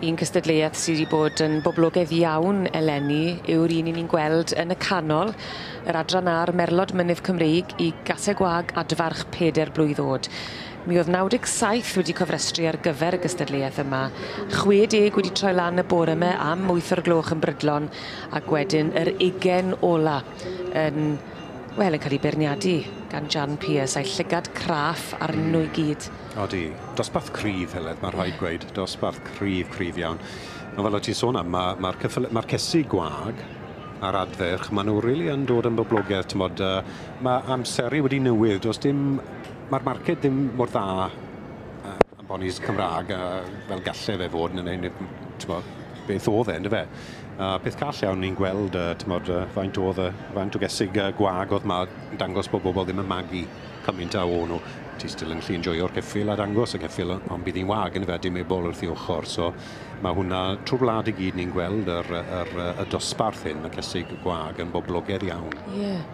Un cystadleuaeth sydd wedi bod yn boblogaidd iawn eleni yw'r un 'yn ni'n gweld yn y canol, yr adran a'r Merlod Mynydd Cymreig i Gaseg Wag Adfarch Peder Blwydd O'd. Mi o'dd 97 wedi cofrestru ar gyfer y gystadleuaeth yma, 60 wedi troi lan y bore 'my am 8 o'r gloch yn brydlon, ac wedyn yr ugen ola yn, wel, yn cael ei beirniadu gan Jan Pearce a'i llygad craff arnyn nhw i gyd. Odi, dosbarth cryf, Heledd, mae'n rhaid gweud. Dosbarth cryf, cryf iawn. Ond fel o ti'n sôn am, mae'r ma, ma ma cesig gwag a'r adferch, maen nhw rili yn dod yn boblogaidd, t'mod, mae amseru wedi newid, does dim, mae'r marced ddim mor dda am bonis Cymraeg fel gallai fe fod yn ein, t'mod, beth oedd e, yndyfe? A peth call iawn ni'n gweld, t'mod, faint oedd, faint o gesig gwag oedd ma, dangos bod bobl ddim yn magu cymaint a o'n nhw. Ti still yn gallu enjoyo'r ceffyl a dangos y ceffyl, ond bydd hi'n wag, yndyfe, dim ebol wrth ei ochr. So mae hwnna, trwy'r wlad i gyd ni'n gweld y dosbarth hyn, y cesig gwag, yn boblogaidd iawn. Ie. Yeah.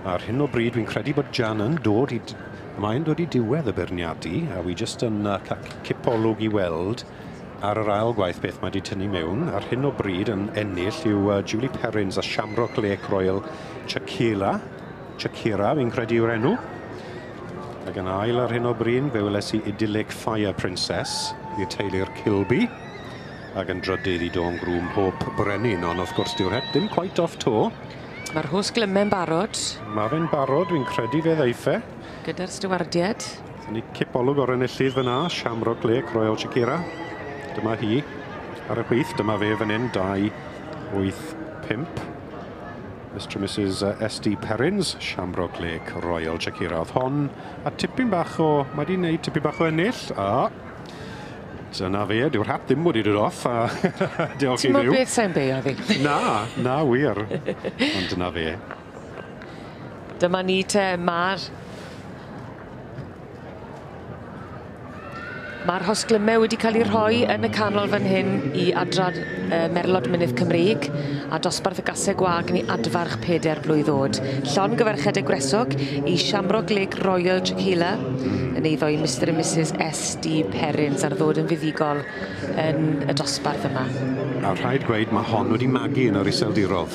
Ar hyn o bryd, dwi'n credu bod Jan yn dod i... Mae'n dod i diwedd y beirniadu, a wi jyst yn cael cipolwg i weld ar yr ail gwaith beth mae wedi tynnu mewn. Ar hyn o bryd yn ennill yw Julie Perrins a Shamrock Lake Royal Shakira. Shakira, fi'n credu yw'r enw. Ac yn ail ar hyn o bryd, fe weles i Idyllic Fire Princess i'r teulu'r Kilby. Ac yn drydydd i Dawn Groom Hope Brenin, ond wrth gwrs dyw'r het ddim quite off to. Mae'r hos glymau'n barod. Mae fe'n barod, dwi'n credu fe ddeiff e. Gyda'r stiwardiad. Ni cipolwg o'r enillydd fyna, Shamrock Lake Royal Shakira. Dyma hi ar y chwith, dyma fe fan hyn, 2, 8, 5. Mr and Mrs S.D. Perrins, Shamrock Lake Royal Shakira oedd hon. A tipyn bach o, mae di wneud tipyn bach o ennill. A dyna fe, dyw'r hat ddim wedi dod off, a diolch i Ti'n Dduw. beth sa'n beio fi? Na, na wir. Ond dyna fe. Dyma ni te, Mae'r hosglymau wedi cael eu rhoi yn y canol fan hyn i adran Merlod Mynydd Cymreig a dosbarth y gaseg gwag ni adfarch 4 blwydd o'd. Llongyfarchiadau gwresog i Shamrock Lake Royal Tequila yn eiddo i Mr and Mrs S.D. Perrins ar ddod yn fuddugol yn y dosbarth yma. A rhaid gweud mae hon wedi magu yn yr Iseldirodd.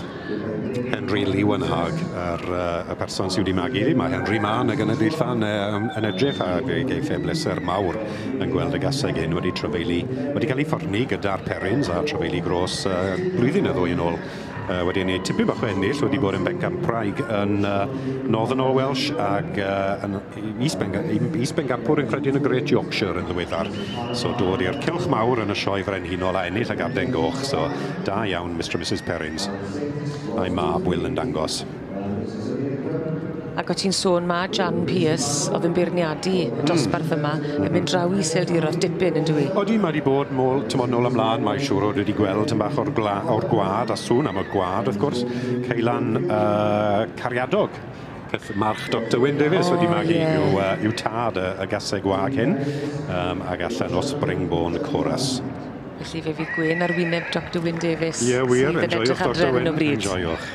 Henry Lewenhag, y person sydd wedi magu iddi. Mae Henry ma yn y gynulleidfa yn edrych a fe geiff e bleser mawr yn gweld y gaseg hyn wedi trafeili, wedi cael ei ffwrni gyda'r Perrins a trafeili gros blwyddyn y ddwy yn ôl. Wedi ennill tipyn bach o ennill, wedi bod yn bencampwraig yn Northern All Welsh ag yn is-bencampwr yn credu yn y Great Yorkshire yn ddiweddar. So dod i'r cylch mawr yn y sioe frenhinol a ennill y Garden Goch. So da iawn Mr and Mrs Perrins. A'i mab Will yn dangos. Ac o ti'n sôn ma Jan Pearce oedd yn beirniadu y dosbarth yma yn mynd draw i Iseldiroedd dipyn yn dwi? Odi, mae wedi bod mol, tymod, nôl ymlaen, mae siŵr o wedi gweld tym bach o'r gwad, a sŵn am y gwad, wrth gwrs, Ceulan Cariadog, march Dr Wyn Davies wedi magu yw tad y gaseg wag hyn, ag allan o Springborn Chorus. Felly fe fydd gwên ar wyneb Dr Wyn Davies. Ie, wir, enjoiwch Dr Wyn, enjoiwch.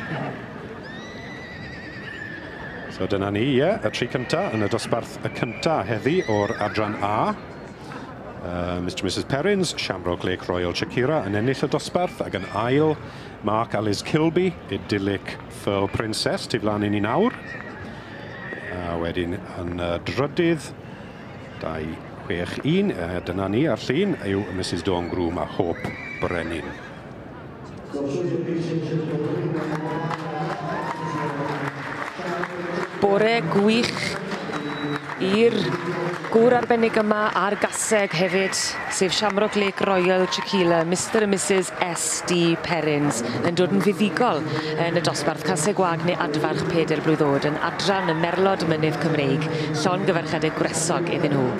So dyna ni, ie, y tri cynta yn y dosbarth y cynta heddi o'r adran A. Mr and Mrs Perrins, Shamrock Lake Royal Shakira yn ennill y dosbarth, ac yn ail, Mark a Liz Kilby, Idyllic Furl Princess, tu flaen i ni nawr. A wedyn yn drydydd, 2, 6, 1, dyna ni ar llun, yw Mrs Dawn Groom a Hope Brenin. Bore gwych i'r gŵr arbennig yma a'r gaseg hefyd, sef Shamrock Lake Royal Tequila, Mr and Mrs S.D. Perrins, yn dod yn fuddugol yn y dosbarth caseg gwag neu adfarch 4 blwydd oed yn adran y Merlod Mynydd Cymreig, llongyfarchiadau gwresog iddyn nhw.